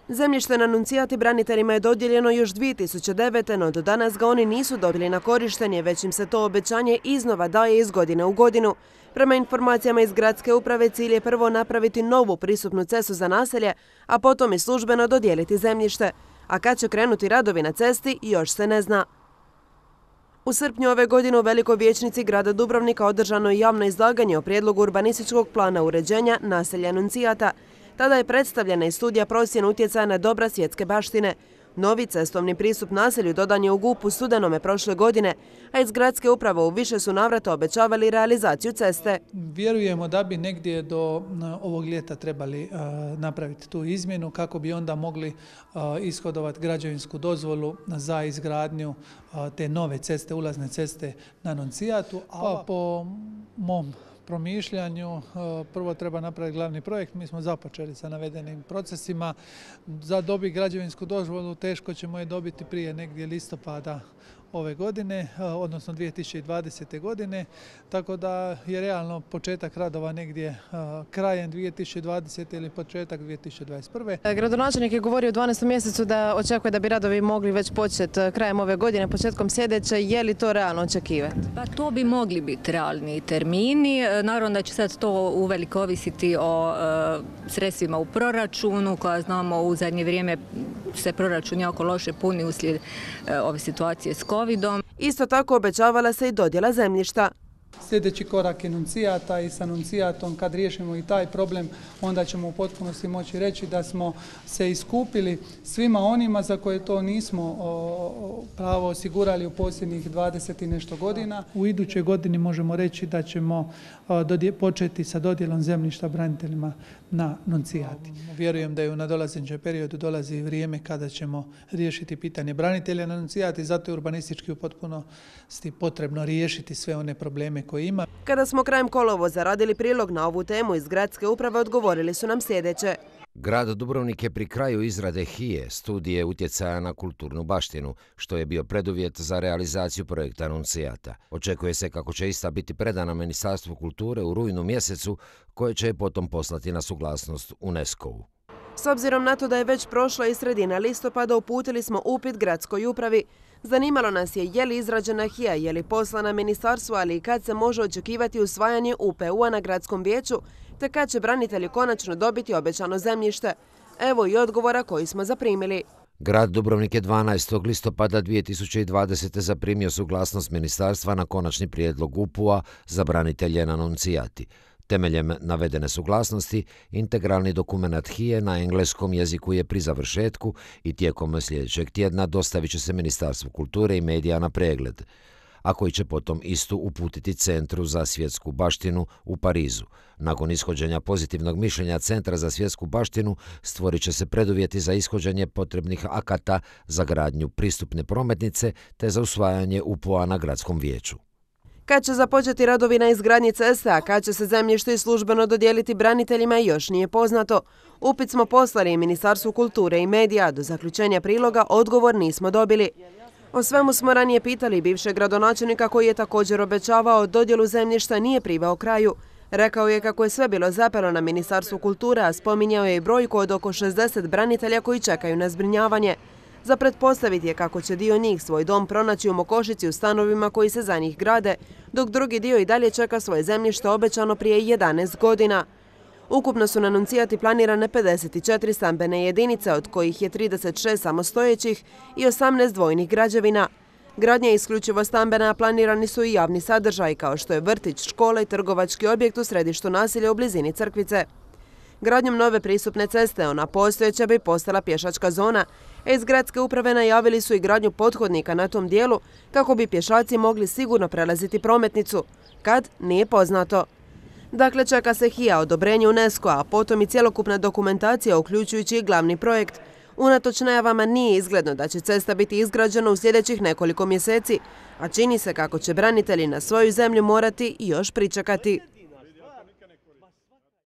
Zemljište na Nuncijati braniteljima je dodijeljeno još 2009. no do danas ga oni nisu dobili na korištenje, već im se to obećanje iznova daje iz godine u godinu. Prema informacijama iz gradske uprave, cilj je prvo napraviti novu pristupnu cestu za naselje, a potom i službeno dodijeliti zemljište. A kad će krenuti radovi na cesti, još se ne zna. U srpnju ove godine u Velikoj vijećnici grada Dubrovnika održano je javno izlaganje o prijedlogu urbanističkog plana uređenja naselja Nuncijata. Tada je predstavljena i studija procjene utjecaja na dobra svjetske baštine. Novi cestovni pristup naselju dodan je u GUP u studenome prošle godine, a iz gradske uprave u više su navrata obećavali realizaciju ceste. Vjerujemo da bi negdje do ovog ljeta trebali napraviti tu izmjenu kako bi onda mogli ishodovati građevinsku dozvolu za izgradnju te nove ceste, ulazne ceste na Nuncijatu. A po mom promišljanju prvo treba napraviti glavni projekt. Mi smo započeli sa navedenim procesima. Za dobiti građevinsku dozvolu teško ćemo je dobiti prije negdje listopada ove godine, odnosno 2020. godine, tako da je realno početak radova negdje krajem 2020. ili početak 2021. Gradonačelnik je govorio u 12. mjesecu da očekuje da bi radovi mogli već početi krajem ove godine, početkom sljedeće. Je li to realno očekivati? Pa to bi mogli biti realni termini. Naravno da će sad to uveliko ovisiti o sredstvima u proračunu, koja znamo u zadnje vrijeme se proračun jako loše puni uslijed ove situacije s COVID-om. Isto tako obećavala se i dodjela zemljišta. Sljedeći korak je Nuncijata i sa Nuncijatom kad riješimo i taj problem, onda ćemo u potpunosti moći reći da smo se iskupili svima onima za koje to nismo pravo osigurali u posljednjih 20 i nešto godina. U idućoj godini možemo reći da ćemo početi sa dodjelom zemljišta braniteljima na Nuncijati. Vjerujem da je u nadolazećem periodu dolazi vrijeme kada ćemo riješiti pitanje branitelja na Nuncijati, zato je urbanistički u potpunosti potrebno riješiti sve one probleme koje ima. Kada smo krajem kolovoza radili prilog na ovu temu iz gradske uprave, odgovorili su nam sljedeće. Grad Dubrovnik je pri kraju izrade HIE, studije utjecaja na kulturnu baštinu, što je bio preduvjet za realizaciju projekta Nuncijata. Očekuje se kako će ista biti predana Ministarstvu kulture u rujnu mjesecu, koje će je potom poslati na suglasnost UNESCO-u. S obzirom na to da je već prošla i sredina listopada, uputili smo upit gradskoj upravi. Zanimalo nas je li izrađena HIA, je li poslana ministarstvu, ali i kad se može očekivati usvajanje UPU-a na gradskom vijeću, te kad će branitelji konačno dobiti obećano zemljište. Evo i odgovora koji smo zaprimili. Grad Dubrovnik je 12. listopada 2020. zaprimio suglasnost ministarstva na konačni prijedlog UPU-a za branitelje na Nuncijati. Temeljem navedene suglasnosti, integralni dokument HIE na engleskom jeziku je pri završetku i tijekom sljedećeg tjedna dostavit će se Ministarstvu kulture i medija na pregled, a koji će potom istu uputiti Centru za svjetsku baštinu u Parizu. Nakon ishođenja pozitivnog mišljenja Centra za svjetsku baštinu stvorit će se preduvjeti za ishođenje potrebnih akata za gradnju pristupne prometnice te za usvajanje UPU-a na gradskom vijeću. Kad će započeti radovi na izgradnji ceste, a kad će se zemljište službeno dodijeliti braniteljima, još nije poznato. Upit smo poslali i Ministarstvu kulture i medija, do zaključenja priloga odgovor nismo dobili. O svemu smo ranije pitali bivšeg gradonačelnika, koji je također obećavao dodjelu zemljišta nije priveo kraju. Rekao je kako je sve bilo zapelo na Ministarstvu kulture, a spominjao je i brojku od oko 60 branitelja koji čekaju na zbrinjavanje. Za pretpostaviti je kako će dio njih svoj dom pronaći u Mokošici u stanovima koji se za njih grade, dok drugi dio i dalje čeka svoje zemljište obećano prije 11 godina. Ukupno su na Nuncijati planirane 54 stambene jedinice, od kojih je 36 samostojećih i 18 dvojnih građevina. Gradnja je isključivo stambena, a planirani su i javni sadržaj, kao što je vrtić, škola i trgovački objekt u središtu naselja u blizini Crkvice. Gradnjom nove pristupne ceste, ona postojeća bi postala pješačka zona, a iz gradske uprave najavili su i gradnju pothodnika na tom dijelu kako bi pješaci mogli sigurno prelaziti prometnicu. Kad? Nije poznato. Dakle, čeka se HIA, odobrenje UNESCO-a, a potom i cjelokupna dokumentacija, uključujući i glavni projekt. Unatoč najavama nije izgledno da će cesta biti izgrađena u sljedećih nekoliko mjeseci, a čini se kako će branitelji na svoju zemlju morati još pričekati.